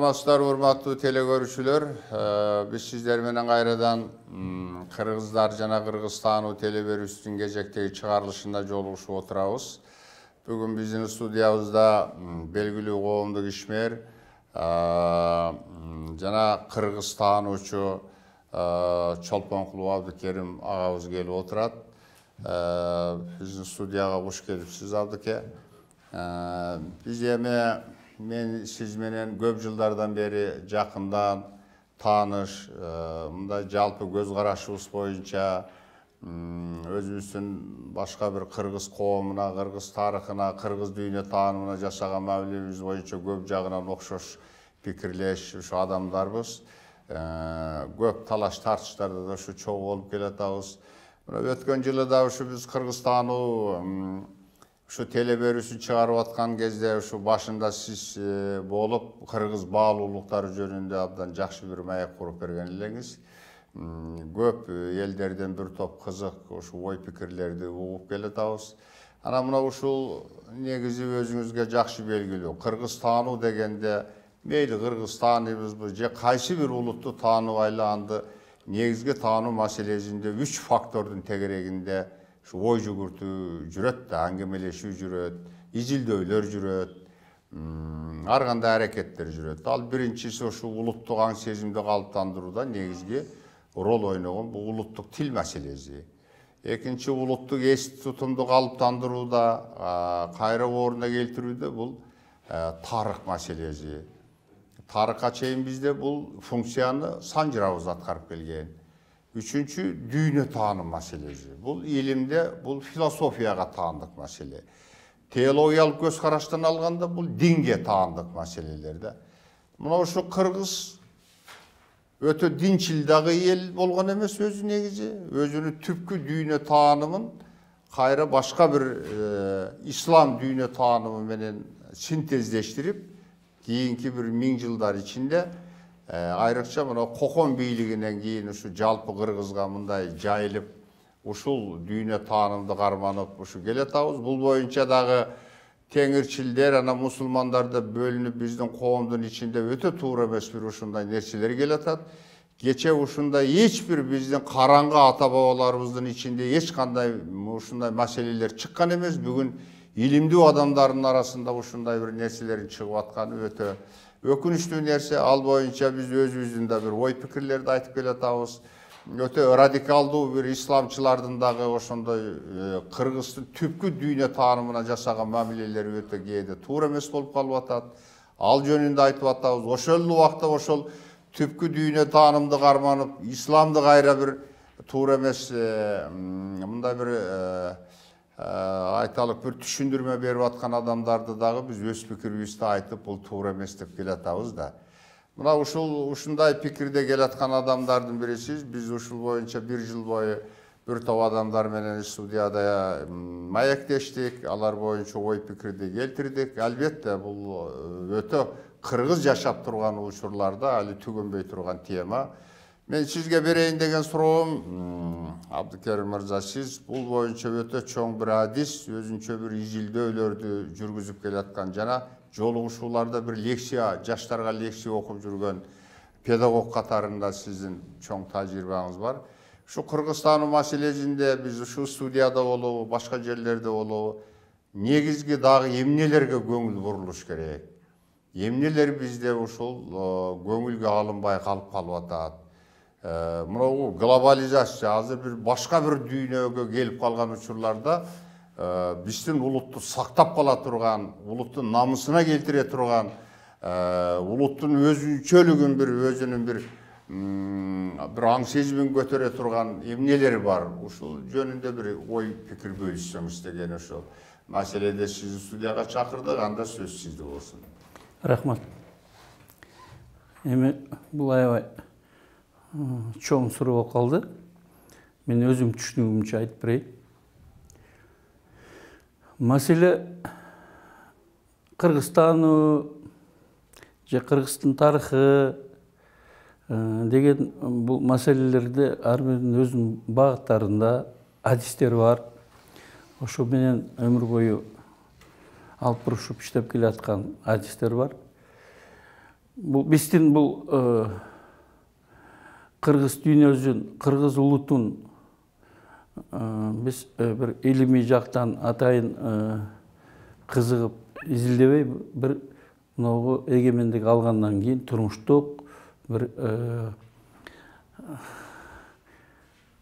Саламатсыздар, урматтуу телекөрүүчүлөр. Биз сиздер менен кайрадан Кыргыздар жана Кыргызстануу телеберүүсүнүн кезектеги чыгарылышында жолугушуп отурабыз. Бүгүн биздин студиябызда белгилүү коомдук ишмер жана кыргызстануучу Чолпонкулов Абдыкерим агабыз келип отурат. Биздин студияга куш келипсиз, Абдыке. Биз эми мен сиз менен көп жылдардан бери жакындан тааныш, мындай жалпы көз карашыбыз боюнча өзүбүздүн башка бир кыргыз коомуна, кыргыз тарыхына, кыргыз дүйнө таанымына жасаган мамилебиз боюнча көп жагынан окшош пикирлеш ушу адамдарбыз. Көп талаш тартыштарда да ушу чогуу болуп келатабыз. Өткөн жылы да ушу биз Кыргызстануу ушу телеберүүсүн чыгарып аткан кезде ушу башында сиз болуп, кыргыз баалуулуктары жөнүндө абдан жакшы бир маек куруп берген элеңиз. Көп элдерден бир топ кызык ушу ой пикирлерди угуп келатабыз. Анан мына ушул негизи өзүңүзгө жакшы белгилүү. Кыргызстануу дегенде мейли кыргыз тааныйбызбы же кайсы бир улутту тааныбайлы анды негизги таануу маселесинде 3 фактордун тегерегинде ой жүгүртүү жүрөт да, аңгемелешүү жүрөт, изилдөөлөр жүрөт, ар кандай аракеттер жүрөт. Ал биринчиси ушу улуттук аң сезимди калыптандырууда негизги роль ойногон бул улуттук тил маселеси. Экинчи улуттук эс тутумду калыптандырууда, кайра ордуна келтирүүдө бул тарых маселеси. Тарыхка чейин бизде бул функцияны санжырабыз аткарып келген. Үчүнчү дүйнө тааным маселеси. Бул илимде, бул философияга таандык маселе. Теологиялык көз караштан алганда бул динге таандык маселелер да. Мына ушу кыргыз өтө динчил дагы эл болгон эмес өзү негизи, өзүнүн түпкү дүйнө таанымын кайра башка бир ислам дүйнө таанымы менен синтездештирип, кийинки бир 1000 жылдар ичинде айрыкча мына Кокон бийлигинен кийин ушу жалпы кыргызга мындай жайылып, ушул дүйнө таанымды карманып ушу келатабыз. Бул боюнча дагы теңирчилдер, анан мусулмандар да бөлүнүп биздин коомдун ичинде өтө туура эмес бир ушундай нерселер келатат. Кече ушундай эч бир биздин караңгы ата бабаларыбыздын ичинде эч кандай ушундай маселелер чыккан эмес. Бүгүн илимдүү адамдардын арасында ушундай бир нерселердин чыгып атканы өтө өкүнүчтүү нерсе. Ал боюнча биз өзүбүздүн да бир ой пикирлерди айтып келатабыз. Өтө радикалдуу бир исламчылардын дагы ошондой кыргыздын түпкү дүйнө таанымына жасаган мамилелери өтө кээде туура эмес болуп калып атат. Ал жөнүндө айтып атабыз. Ошол убакта ошол түпкү дүйнө таанымды карманып, исламды кайра бир туура эмес мындай бир айталык бир түшүндүрмө берип аткан адамдарды дагы биз өз пикирибизди айтып, бул туура эмес деп келатабыз да. Мына ушундай пикирде келаткан адамдардын бирисиз. Биз ушул боюнча 1 жыл бою бир топ адамдар менен студияда маектештик, алар боюнча ой пикирди келтирдик. Албетте бул өтө кыргыз жашап турган учурларда али түгөнбөй турган тема. Мен сизге берейин деген суроом, Абдыкерим мырза, сиз бул боюнча өтө чоң бир адис, өзүнчө бир изилдөөлөрдү жүргүзүп келаткан жана жолугушууларда бир лекция, жаштарга лекция окуп жүргөн педагог катарында сиздин чоң тажрыйбаңыз бар. Ушу Кыргызстан маселесинде биз ушу студияда болобу, башка жерлерде болобу, негизги дагы эмнелерге көңүл бурулуш керек? Эмнелер бизде ушул көңүлгө алынбай калып атат? Мына глобализация азыр бир башка бир дүйнөгө келип калган учурларда биздин улутту сактап кала турган, улуттун намысына келтире турган, улуттун өзүнчөлүгүн өзүнүн бир аң сезимин көтөрө турган эмнелер бар? Ушул жөнүндө бир ой пикир бөлүшсөңүз деген ошол маселеде сизди студияга чакырдык. Анда сөз сизде болсун. Рахмат. Эми бул аябай чоң суроо болуп калды. Мен өзүм түшүнүгүмчө айтып берейин. Маселе Кыргызстануу же Кыргыздын тарыхы деген бул маселелерде ар биринин өзүнүн багыттарында адистер бар. Ошо менен өмүр бою алып бурушуп иштеп келаткан адистер бар. бул биздин бул кыргыз дүйнөсүн, кыргыз улутун биз бир илимий жактан атайын кызыгып изилдебей, бир могу эгемендик алгандан кийин турмуштук бир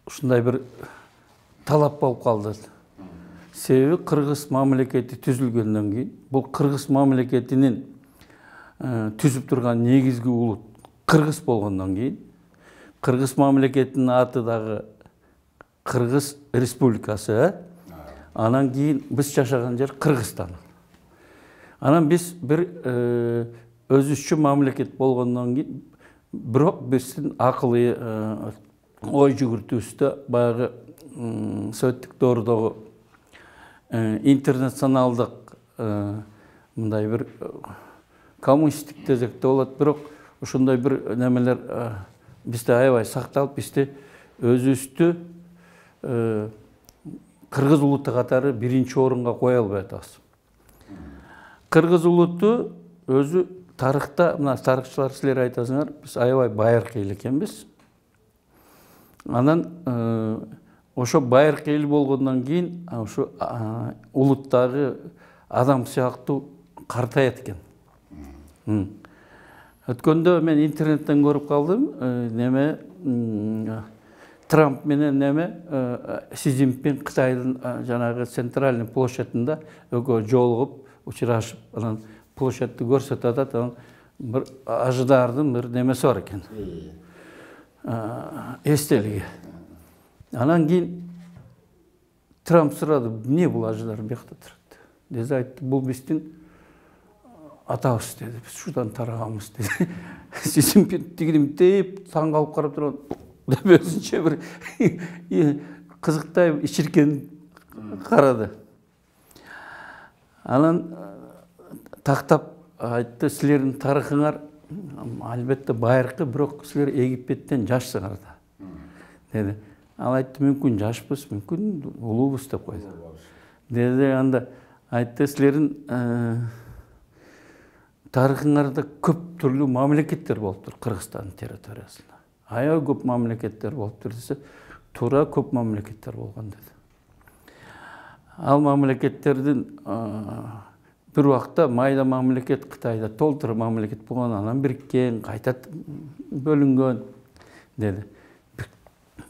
ушундай бир талап болуп калды. Себеби кыргыз мамлекети түзүлгөндөн кийин, бул кыргыз мамлекетинин түзүп турган негизги улут кыргыз болгондон кийин, кыргыз мамлекетинин аты дагы Кыргыз Республикасы, анан кийин биз жашаган жер Кыргызстан. Анан биз бир өзүчө мамлекет болгондон кийин, бирок биздин акылый ой жүгүртүүбүздө баягы советтик доордогу интернационалдык мындай бир коммунисттик десек да болот, бирок ошондой бир немелер бизде аябай сакталып, бизде өзүбүздү кыргыз улуту катары биринчи орунга кое албай атабыз. Кыргыз улуту өзү тарыхта, мына тарыхчылар силер айтасыңар, биз аябай байыркы эл экенбиз. Анан ошо байыркы эл болгондон кийин ошо улуттагы адам сыяктуу картаят экен. Өткөндө мен интернеттен көрүп калдым, неме Трамп менен неме Си Цзиньпин Кытайдын жанагы центральный площадында экөө жолугуп, учурашып, анан площадьты көрсөтүп атат, анан бир ажыдардын бир немеси бар экен. Эстелиги. Анан кийин Трамп сурады, эмне бул ажыдар биякта турат? Деди, айтты, бул биздин атабыз деди, биз шудан тарагамыз деди. Си Цзиньпин тигилимтеп таң калып карап турган, деп өзүнчө бир кызыктай ичиркен карады. Анан тактап айтты, силердин тарыхыңар албетте байыркы, бирок силер Египеттен жашсыңар да, деди. Ал айтты, мүмкүн жашпыз, мүмкүн улуубуз деп койду. Деди, анда айтты, силердин тарыхыңарда көп түрлүү мамлекеттер болуптур Кыргызстандын территориясында. Аябай көп мамлекеттер болуптур десе, туура көп мамлекеттер болгон деди. Ал мамлекеттердин бир убакта майда мамлекет Кытайда толтура мамлекет болгон, анан бириккен, кайта бөлүнгөн деди.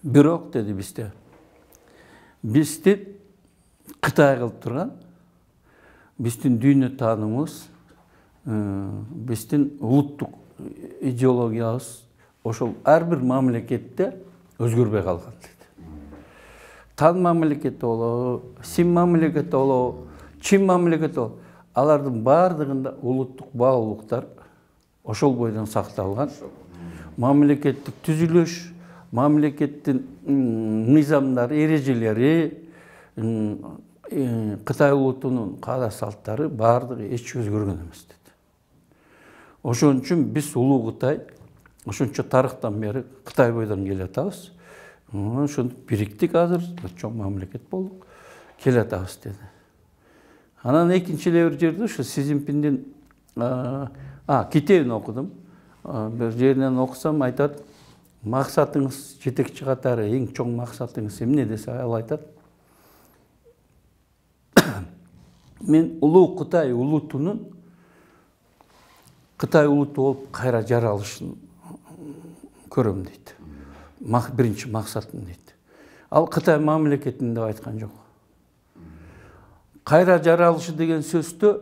Бирок деди, бизди Кытай кылып турган биздин дүйнө таанымыбыз, биздин улуттук идеологиябыз ошол ар бир мамлекетте өзгөрбөй калган деди. Тан мамлекети болобу, Син мамлекети болобу, Чин мамлекети болобу, алардын баардыгында улуттук баалуулуктар ошол бойдон сакталган. Мамлекеттик түзүлүш, мамлекеттин мыйзамдары, эрежелери, Кытай улутунун каада салттары баардыгы эч өзгөргөн эмес деди. Ошон үчүн биз улуу Кытай, ошончо тарыхтан бери Кытай бойдон келатабыз. Ошону бириктик, азыр чоң мамлекет болуп келатабыз деди. Анан экинчи эле бир жерде ушу Си Цзиньпиндин китебин окудум. Бир жеринен окусам айтат, максатыңыз жетекчи катары эң чоң максатыңыз эмне десе, ал айтат, мен улуу Кытай улутунун Кытай улуту болуп кайра жаралышын көрөм дейт. Биринчи максатым дейт. Ал Кытай мамлекетин деп айткан жок. Кайра жаралышы деген сөздө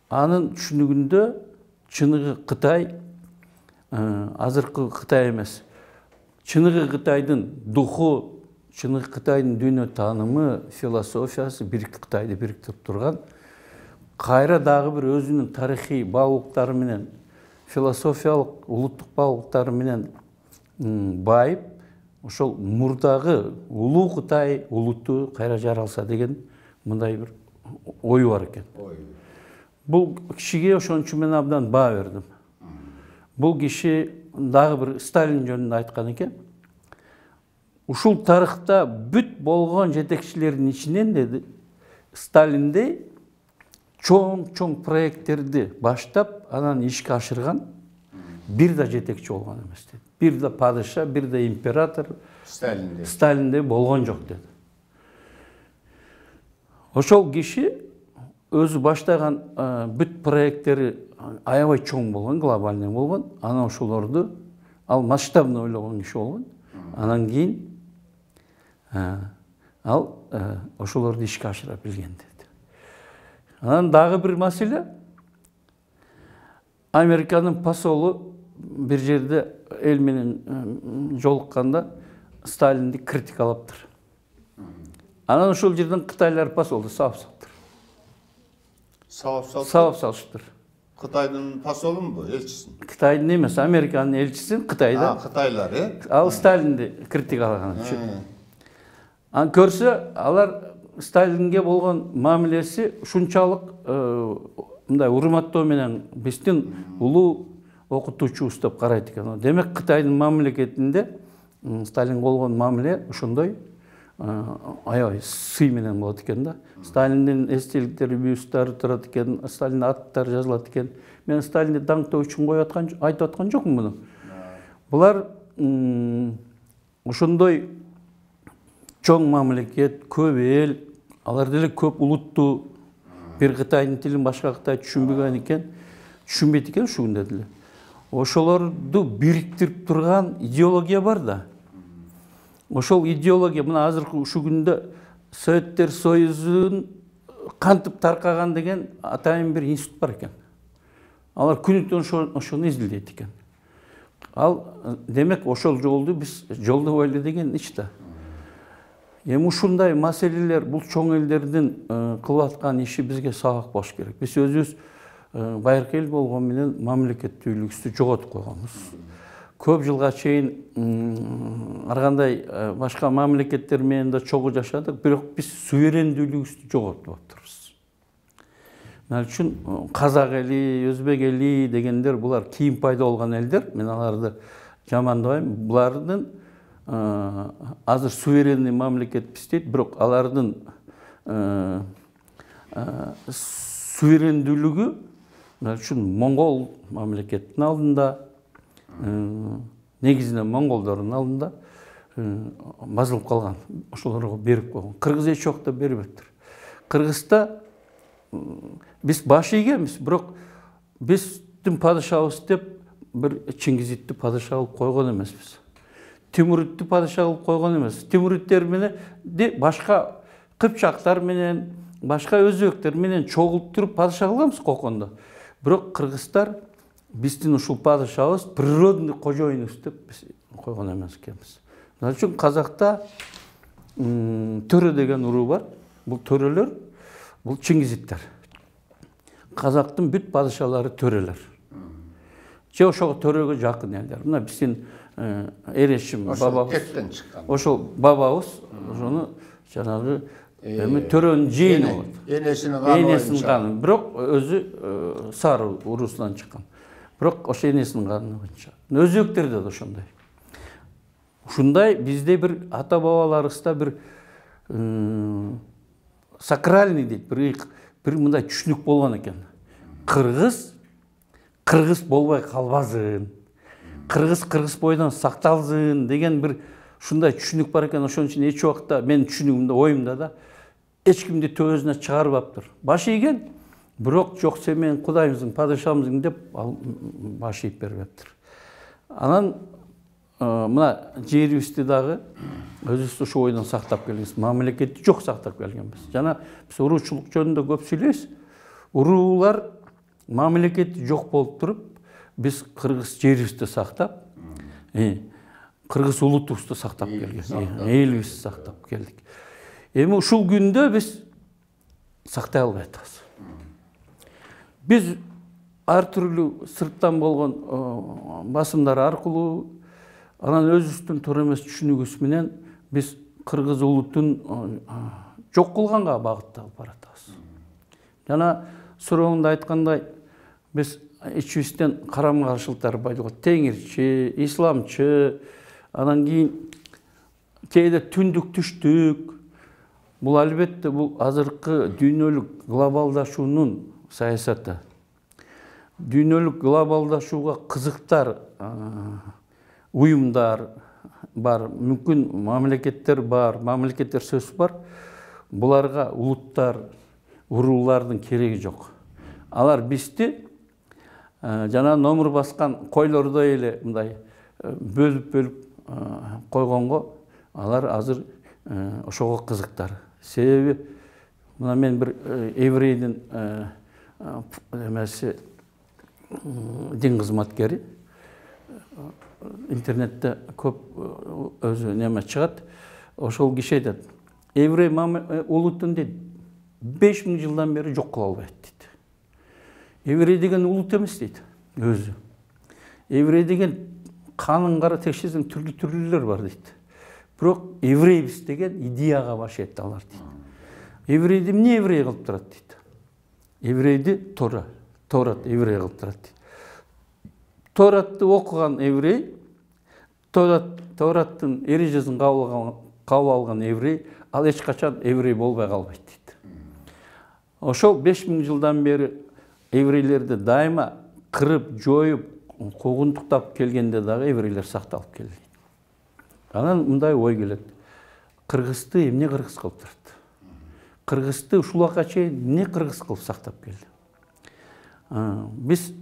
анын түшүнүгүндө чыныгы Кытай, азыркы Кытай эмес, чыныгы Кытайдын духу, чыныгы Кытайдын дүйнө таанымы, философиясы Кытайды бириктирип турган, кайра дагы бир өзүнүн тарыхый баалуулуктары менен, философиялык, улуттук баалуулуктары менен байып, ошол мурдагы улуу Кытай улуту кайра жаралса деген мындай бир ою бар экен. Бул кишиге ошончу мен абдан баа бердим. Бул киши дагы бир Сталин жөнүндө айткан экен. Ушул тарыхта бүт болгон жетекчилердин ичинен деди, Сталиндей чоң проекттерди баштап анан ишке ашырган бир да жетекчи болгон эмес деди. Бир да падыша, бир да император Сталиндей болгон жок деди. Ошол киши өзү баштаган бүт проекттери аябай чоң болгон, глобальный болгон. Анан ошолорду ал масштабный ойлогон киши болгон. Анан кийин ал ошолорду ишке ашыра билген деди. Анан дагы бир маселе, Американын посолу бир жерде эл менен жолукканда Сталинди критикалаптыр. Анан ошол жерден кытайлар посолду сабап салыптыр. Сабап салыштыр. Кытайдын посолунбу, элчисин? Кытайдын эмес, Американын элчисин Кытайда. Кытайлар, Ал Сталинди критикалаган үчүн. Анан көрсө, алар Сталинге болгон мамилеси ушунчалык мындай урматтоо менен биздин улуу окутуучубуз деп карайт экен. Демек Кытайдын мамлекетинде Сталинге болгон мамиле ошондой аябай сый менен болот экен да. Сталиндин эстеликтери, бюсттары турат экен, Сталиндин аттары жазылат экен. Мен Сталинди даңктоо үчүн айтып аткан жокмун муну. Булар ошондой чоң мамлекет, көп эл, алар деле көп улуттуу, бир Кытайдын тилин башка Кытай түшүнбөгөн экен, түшүнбөйт экен ушул күндө деле. Ошолорду бириктирип турган идеология бар да. Ошол идеология мына азыркы ушул күндө Советтер Союзунун кантип таркаган деген атайын бир институт бар экен. Алар күнү-түн ошону изилдейт экен. Ал демек ошол жолду биз жолдобойлу деген ич да. Эми ушундай маселелер бул чоң элдердин кылып аткан иши бизге сабак болуш керек. Биз өзүбүз байыркы эл болгон менен мамлекеттүүлүгүбүздү жоготуп койгонбуз. Көп жылга чейин ар кандай башка мамлекеттер менен да чогуу жашадык, бирок биз суверендүүлүгүбүздү жоготуп атырбыз. Мына үчүн казак эли, өзбек эли дегендер булар кийин пайда болгон элдер. Мен аларды жамандабайм. Булардын азыр суверенный мамлекетпиз дейт, бирок алардын суверендүүлүгү мына үчүн монгол мамлекеттин алдында, негизинен монголдордун алдында базылып калган. Ошолорго берип койгон. Кыргыз эч убакта бербептир. Кыргызда биз баш ийгенбиз, бирок биздин падышабыз деп бир Чингизитти падыша кылып койгон эмеспиз. Тимуритти падыша кылып койгон эмес. Тимуриттер менен башка кыпчактар менен, башка өзбектер менен чогулуп туруп падыша кылганбыз кокондо. Бирок кыргыздар биздин ушул падышабыз природный кожоюнубуз деп биз койгон эмес экенбиз. Мына үчүн казакта төрө деген уруу бар. Бул төрөлөр, бул Чингизиттер. Казактын бүт падышалары төрөлөр. Же ошого төрөгө жакын элдер. Мына биздин Эрешим бабабыз. Кеттен чыккан. Ошол бабабыз ошону жанагы төрөнүн жээни болот. Энесинин каны. Бирок өзү сары уруусунан чыккан. Бирок ошо энесинин каны боюнча. Өзбектерде да ошондой. Ушундай бизде бир ата бабаларыбызда бир сакральный дейт, бир мындай түшүнүк болгон экен. Кыргыз болбой калбасын. Кыргыз бойдон сакталсын деген бир ушундай түшүнүк бар экен. Ошон үчүн эч убакта менин түшүнүгүмдө, оюмда да эч кимди төбөсүнө чыгарбаптыр. Баш ийген, бирок жок сен менин кудайымсың, падышамсың деп ал баш ийип бербептир. Анан мына жерибизди дагы өзүбүз ошол бойдон сактап келебиз. Мамлекетти жок сактап келгенбиз. Жана биз уруучулук жөнүндө көп сүйлөйбүз. Уруулар мамлекети жок болуп туруп, биз кыргыз жерибизди сактап, кыргыз улутубузду сактап келдик. Элибизди сактап келдик. Эми ушул күндө биз сактай албай атабыз. Биз ар түрлүү сырттан болгон басымдар аркылуу, анан өзүбүздүн туура эмес түшүнүгүбүз менен биз кыргыз улутун жок кылганга багытталып баратабыз. Жана сурооңдо айткандай, биз ичибизден карама-каршылыктар пайда болот. Теңирчи, исламчы, анан кийин кээде түндүк түштүк, Бул албетте бул азыркы дүйнөлүк глобалдашуунун саясаты. Дүйнөлүк глобалдашууга кызыктар уюмдар бар, мүмкүн мамлекеттер бар, мамлекеттер сөз бар. Буларга улуттар, уруулардын кереги жок. Алар бизди жана номур баскан койлордой эле мындай бөлүп койгонго алар азыр ошого кызыктар. Себеби мына мен бир еврейдин эмеси дин кызматкери, интернетте көп өзү неме чыгат. Ошол киши айтат: еврей улутун дейт 5000 жылдан бери жок кыла албайт дейт. Еврей деген улут эмес дейт өзү. Еврей деген канын кара текшерсең түрлүү бар дейт. Бирок еврейбиз деген идеяга башайт алар дейт. Еврейди эмне еврей кылып турат дейт. Еврейди Торат еврей кылып турат дейт. Торатты окуган еврей, Тораттын эрежесин кабыл алган еврей, ал эч качан еврей болбой калбайт дейт. Ошол 5000 жылдан бери еврейлерди дайыма кырып, жоюп, куугунтуктап келгенде дагы еврейлер сакталып келди. Анан мындай ой келет: кыргызды эмне кыргыз кылып турат? Кыргызды ушул убакка чейин эмне кыргыз кылып сактап келди? Биз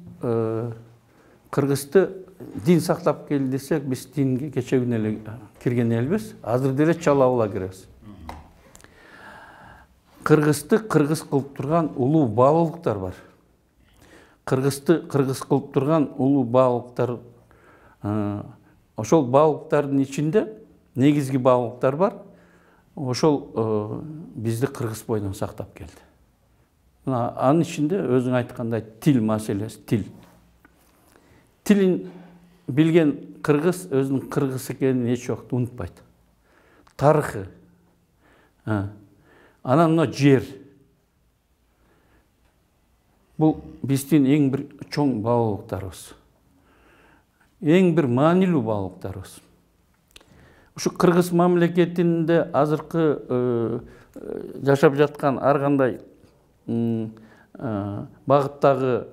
кыргызды дин сактап келди десек, биз динге кече күнү эле кирген элбиз, азыр деле чала киребиз. Кыргызды кыргыз кылып турган улуу баалуулуктар бар. Кыргызды кыргыз кылып турган улуу баалуулуктар, ошол баалуулуктардын ичинде негизги баалуулуктар бар. Ошол бизди кыргыз бойдон сактап келди. Анын ичинде өзүң айткандай тил маселеси, тилин билген кыргыз өзүнүн кыргыз экенин эч убакта унутпайт. Тарыхы. Анан мына жер. Бул биздин эң бир чоң баалуулуктарыбыз. Эң бир маанилүү баалуулуктарыбыз. Ушу кыргыз мамлекетинде азыркы жашап жаткан ар кандай багыттагы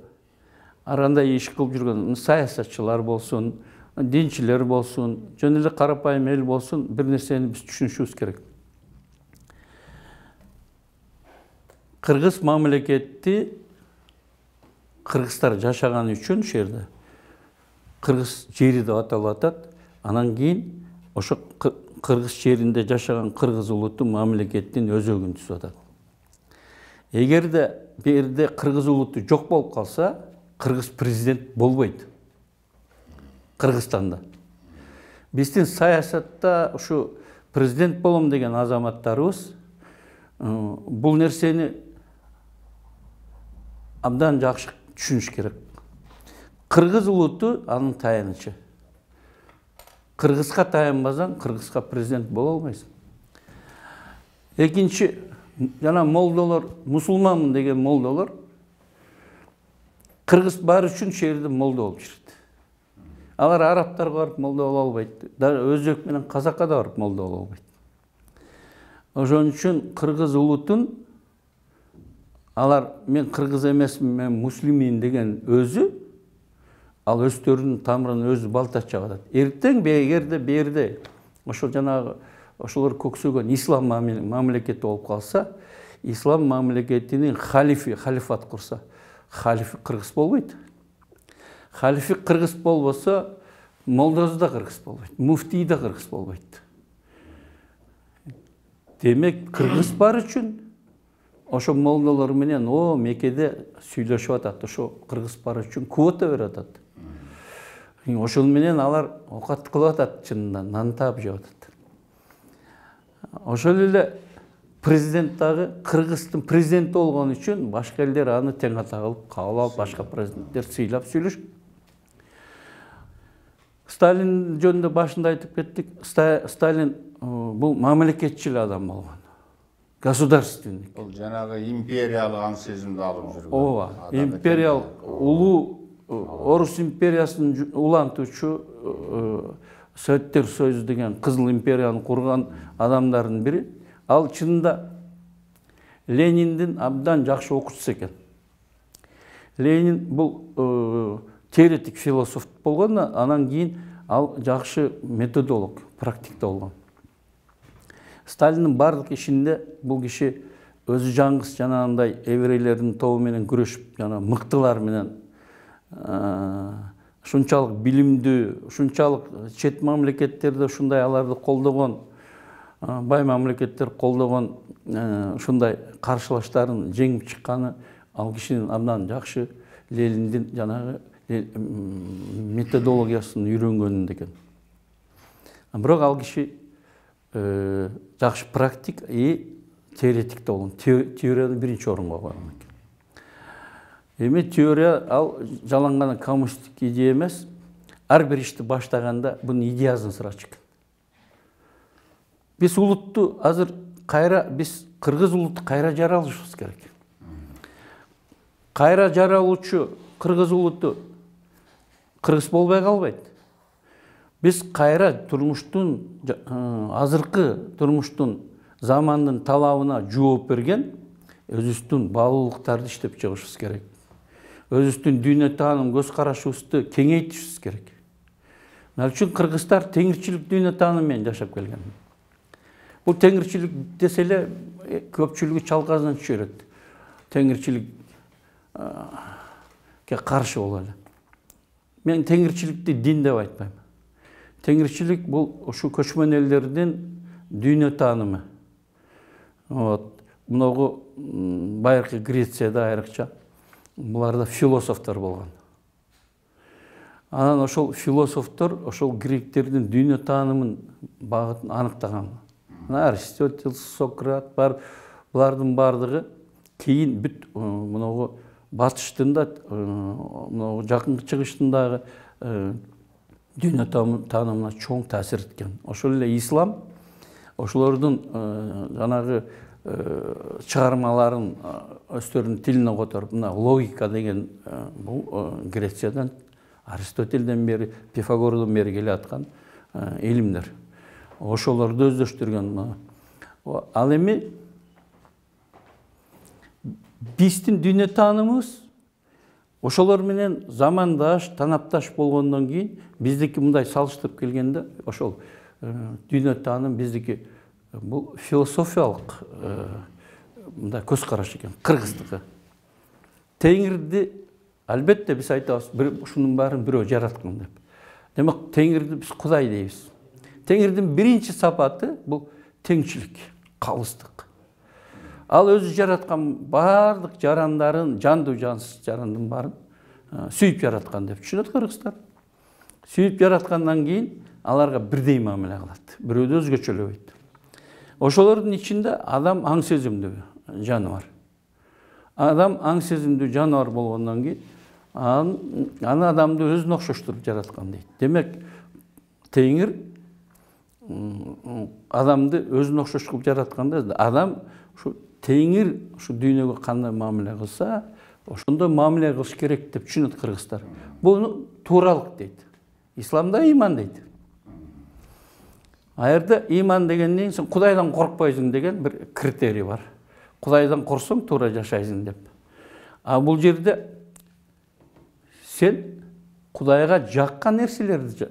ар кандай иш кылып жүргөн саясатчылар болсун, динчилер болсун, жөн эле карапайым эл болсун, бир нерсени биз түшүнүшүбүз керек. Кыргыз мамлекети кыргыздар жашаган үчүн ошол жерде кыргыз жери деп аталып атат. Анан кийин ошо кыргыз жеринде жашаган кыргыз улуту мамлекеттин өзөгүн түзүп атат. Эгерде бу жерде кыргыз улуту жок болуп калса, кыргыз президент болбойт. Кыргызстанда. Биздин саясатта ушу президент болом деген азаматтарыбыз бул нерсени абдан жакшы түшүнүш керек. Кыргыз улуту анын таянычы. Кыргызга таянбасаң, кыргызга президент боло албайсың. Экинчи, жана молдолор, мусулманмын деген молдолор кыргыз бар үчүн жерде молдо болуп жүрөт. Алар арабтарга барып молдо боло албайт. Өзбек менен казакка да барып молдо боло албайт. Ошон үчүн кыргыз улутун алар мен кыргыз эмесмин, мен муслиммин деген өзү, ал өздөрүнүн тамырын өзү балташ чагып атат. Эртең эгерде бу жерде ошол жанагы ошолор көксөгөн ислам мамлекети болуп калса, ислам мамлекетинин халифат курса, халифи кыргыз болбойт. Халифи кыргыз болбосо, молдосу да кыргыз болбойт, муфтий да кыргыз болбойт. Демек, кыргыз бар үчүн ошо молдолор менен Мекеде сүйлөшүп атат. Ошо кыргыз бар үчүн квота берип атат. Ошол менен алар окат кылып атат, чынында нан таап жеп атат. Ошол эле президент дагы кыргыздын президенти болгон үчүн башка элдер аны тең ата кылып кабыл алып, башка президенттер сыйлап сүйлөшөт. Сталин жөнүндө башында айтып кеттик. Сталин бул мамлекетчил адам болгон. Государственник. Бул жанагы империялык аң сезимди алып жүргөн. Ооба, империялык улуу Орус империясын улантуучу Советтер Союзу деген Кызыл империяны курган адамдардын бири. Ал чынында Лениндин абдан жакшы окуучусу экен. Ленин бул теоретик философ болгон, анан кийин ал жакшы методолог, практикте болгон. Сталиндин бардык ишинде бул киши өзү жаңгыс жанагындай еврейлердин тобу менен күрөшүп, жана мыктылар менен ушунчалык билимдүү, ушунчалык чет мамлекеттерде ушундай аларды колдогон, бай мамлекеттер колдогон ушундай каршылаштарын жеңип чыкканы ал кишинин абдан жакшы Лениндин жанагы методологиясын үйрөнгөнүндө экен. Бирок ал киши жакшы практик и теоретикте болгон. Теорияны биринчи орунга койгон экен. Эми теория ал жалаң коммунисттик идея эмес. Ар бир ишти баштаганда бунун идеясын сурачу экен. Биз улутту азыр кайра, биз кыргыз улутту кайра жаралышыбыз керек. Кайра жаралуучу кыргыз улуту кыргыз болбой калбайт. Биз кайра турмуштун, азыркы турмуштун, замандын талабына жооп берген өзүбүздүн баалуулуктарды иштеп чыгышыбыз керек. Өзүбүздүн дүйнө тааным, көз карашыбызды кеңейтишибиз керек. Мына үчүн кыргыздар теңирчилик дүйнө таанымы менен жашап келген. Бул теңирчилик десе эле көпчүлүгү чалказынан түшөрөт. Теңирчиликке каршы боло эле. Мен теңирчиликти дин деп айтпайм. Теңирчилик бул ушу көчмөн элдердин дүйнө таанымы. Мынагу байыркы Грецияда айрыкча буларда философтор болгон. Анан ошол философтор ошол гректердин дүйнө таанымын багытын аныктаган. Аристотель, Сократ бар, булардын бардыгы кийин бүт мынагу батыштын да, мынагу жакынкы чыгыштын дагы дүйнө таанымына чоң таасир эткен. Ошол эле ислам ошолордун жанагы чыгармаларын өздөрүнүн тилине которуп, мына логика деген бул Грециядан, Аристотельден бери, Пифагордон бери келе аткан илимдер. Ошолорду өздөштүргөн. Ал эми биздин дүйнө таанымыбыз ошолор менен замандаш, танапташ болгондон кийин биздики мындай салыштырып келгенде ошол дүйнө тааным биздики бул философиялык мындай көз караш экен, кыргыздыкы. Теңирди албетте биз айтабыз, ушунун баарын бирөө жараткан деп. Демек, теңирди биз Кудай дейбиз. Теңирдин биринчи сапаты бул теңчилик, калыстык. Ал өзү жараткан бардык жарандарын, жандуу жансыз жарандын баарын сүйүп жараткан деп түшүнөт кыргыздар. Сүйүп жараткандан кийин аларга бирдей мамиле кылат, бирөөдү өзгөчөлөбөйт. Ошолордун ичинде адам аң сезимдүү жаныбар. Адам аң сезимдүү жаныбар болгондон кийин аны адамды өзүнө окшоштуруп жараткан дейт. Демек, теңир адамды өзүнө окшош кылып жаратканда, адам ушу теңир ушу дүйнөгө кандай мамиле кылса, ошондой мамиле кылыш керек деп түшүнөт кыргыздар. Буну тууралык дейт. Исламда иман дейт. Аерде иман дегенден сен Кудайдан коркпойсуң деген бир критерий бар. Кудайдан корксоң туура жашайсың деп. А бул жерде сен Кудайга жаккан нерселерди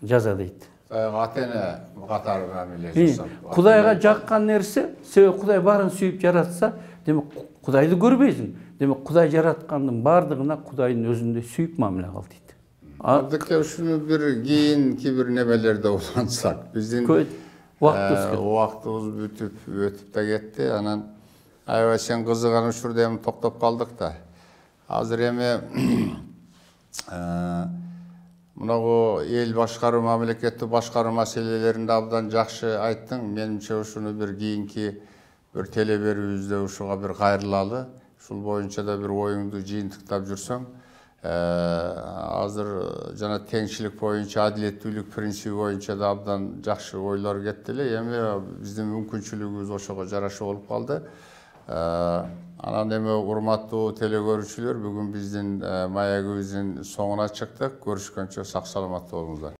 жаза дейт. Ата-эне катары мамиле жасап. Кудайга жаккан нерсе, себеби Кудай баарын сүйүп жаратса, демек Кудайды көрбөйсүң. Демек Кудай жараткандын бардыгына Кудайдын өзүндөй сүйүп мамиле кыл дейт. Абдыке ушуну бир кийинки бир немелерде улантсак, биздин убактыбыз бүтүп өтүп да кетти. Анан аябай сен кызыган учурда эми токтоп калдык да. Азыр эми мынагу эл башкаруу, мамлекетти башкаруу маселелеринде абдан жакшы айттың. Менимче ушуну бир кийинки бир теле берүүбүздө ушуга бир кайрылалы. Ушул боюнча да бир оюңду жыйынтыктап жүрсөң. Азыр жана теңчилик боюнча, адилеттүүлүк принциби боюнча да абдан жакшы ойлор кетти эле. Эми биздин мүмкүнчүлүгүбүз ошого жараша болуп калды. Анан эми урматтуу теле көрүүчүлөр, бүгүн биздин маегибиздин соңуна чыктык. Көрүшкөнчө сак саламатта болуңуздар.